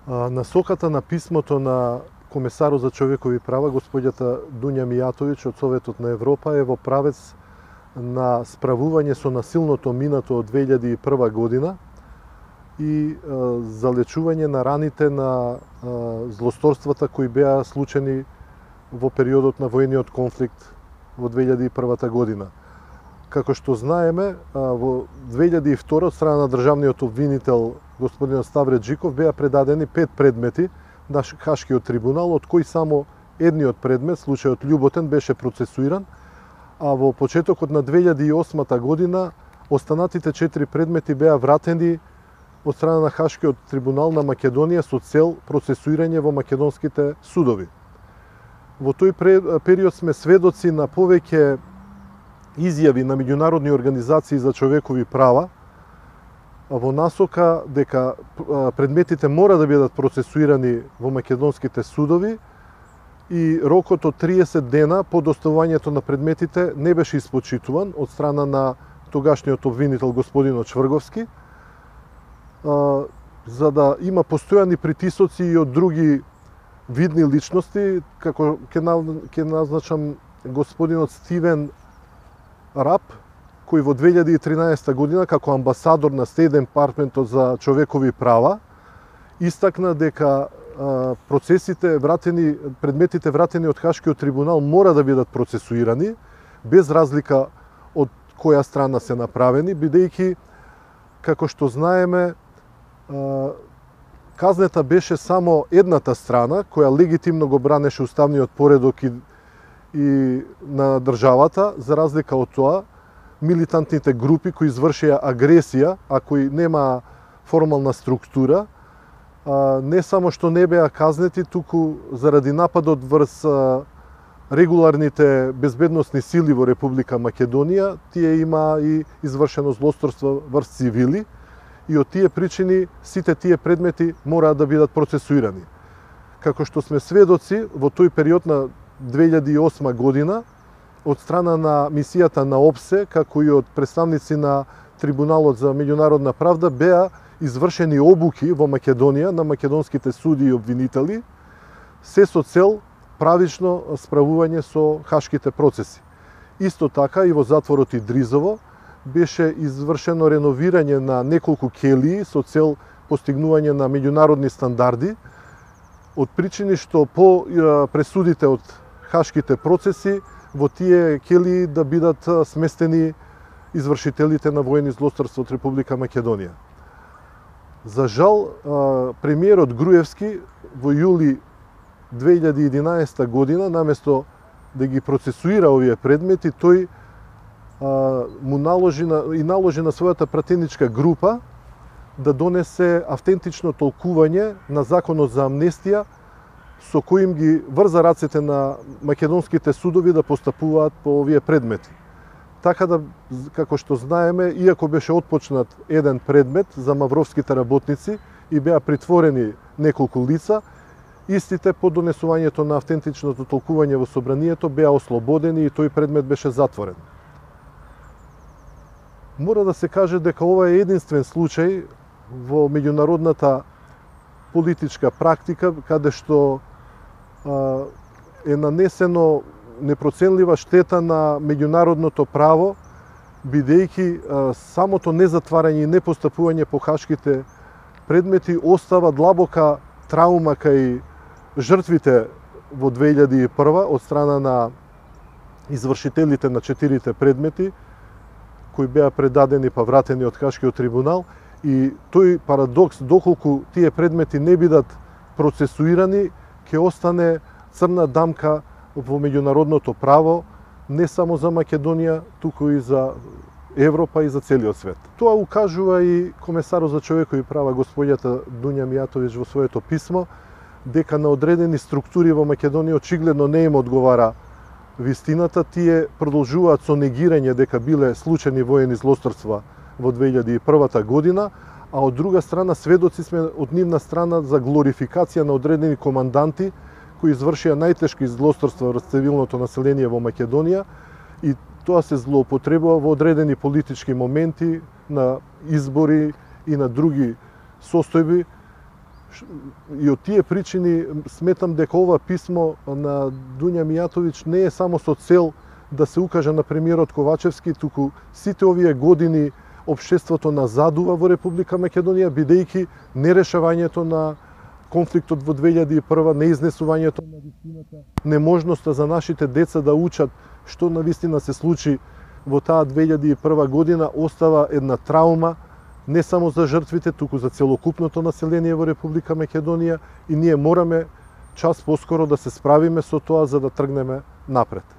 Насоката на писмото на комесарот за човекови права, господјата Дуња Мијатовиќ од Советот на Европа, е во правец на справување со насилното минато од 2001 година и залечување на раните на злосторствата кои беа случени во периодот на воениот конфликт во 2001 година. Како што знаеме, во 2002 од страна на државниот обвинител господин Ставре Джиков беа предадени 5 предмети на Хашкиот трибунал, од кои само едниот предмет, случајот Љуботен, беше процесуиран, а во почетокот на 2008 година останатите 4 предмети беа вратени од страна на Хашкиот трибунал на Македонија со цел процесуирање во македонските судови. Во тој период сме сведоци на повеќе изјави на меѓународни организации за човекови права во насока дека предметите мора да бидат процесуирани во македонските судови и рокот од 30 дена по доставувањето на предметите не беше испочитуван од страна на тогашниот обвинител господинот Чврговски, за да има постојани притисоци и од други видни личности, како ќе назначам господинот Стивен Рап, кој во 2013 година како амбасадор на Стейт Департментот за човекови права истакна дека предметите вратени од Хашкиот трибунал мора да бидат процесуирани без разлика од која страна се направени, бидејќи, како што знаеме, казнета беше само едната страна која легитимно го бранеше уставниот поредок и на државата, за разлика од тоа милитантните групи кои извршија агресија, а кои нема формална структура, не само што не беа казнети, туку заради нападот врз регуларните безбедносни сили во Република Македонија, тие има и извршено злосторство врз цивили и од тие причини сите тие предмети мораат да бидат процесуирани. Како што сме сведоци, во тој период на 2008 година, од страна на мисијата на ОПСЕ, како и од представници на Трибуналот за меѓународна правда, беа извршени обуки во Македонија на македонските суди и обвинители, се со цел правично справување со хашките процеси. Исто така и во затворот Идризово беше извршено реновирање на неколку келии со цел постигнување на меѓународни стандарди, од причини што по пресудите од хашките процеси во тие келии да бидат сместени извршителите на воени злосторства од Република Македонија. За жал, премиерот Груевски во јули 2011 година, наместо да ги процесуира овие предмети, тој наложи на својата пратеничка група да донесе автентично толкување на законот за амнестија, со коим ги врза рацете на македонските судови да постапуваат по овие предмети. Така да, како што знаеме, иако беше отпочнат еден предмет за мавровските работници и беа притворени неколку лица, истите по донесувањето на автентичното толкување во собранието беа ослободени и тој предмет беше затворен. Мора да се каже дека ова е единствен случај во меѓународната политичка практика, каде што е нанесено непроценлива штета на меѓународното право, бидејќи самото незатварање и непостапување по хашките предмети остава длабока траума кај жртвите во 2001 од страна на извршителите на 4 предмети, кои беа предадени па вратени од Хашкиот трибунал, и тој парадокс, доколку тие предмети не бидат процесуирани, ќе остане црна дамка во меѓународното право, не само за Македонија, туку и за Европа и за целиот свет. Тоа укажува и комесарот за човекови права господјата Дуња Мијатовиќ во своето писмо, дека на одредени структури во Македонија очигледно не им одговара вистината, тие продолжуваат со негирање дека биле случајни воени злосторства во 2001 година, а од друга страна сведоци сме од нивна страна за глорификација на одредени команданти кои извршија најтешки злосторства врз цивилното население во Македонија, и тоа се злоупотребува во одредени политички моменти на избори и на други состојби, И од тие причини сметам дека ова писмо на Дуња Мијатовиќ не е само со цел да се укаже на премиерот Ковачевски, туку сите овие години општеството назадува во Република Македонија, бидејќи нерешавањето на конфликтот во 2001, неизнесувањето на вистината, неможноста за нашите деца да учат што на вистина се случи во таа 2001 година остава една траума не само за жртвите, туку за целокупното население во Република Македонија и ние мораме час поскоро да се справиме со тоа за да тргнеме напред.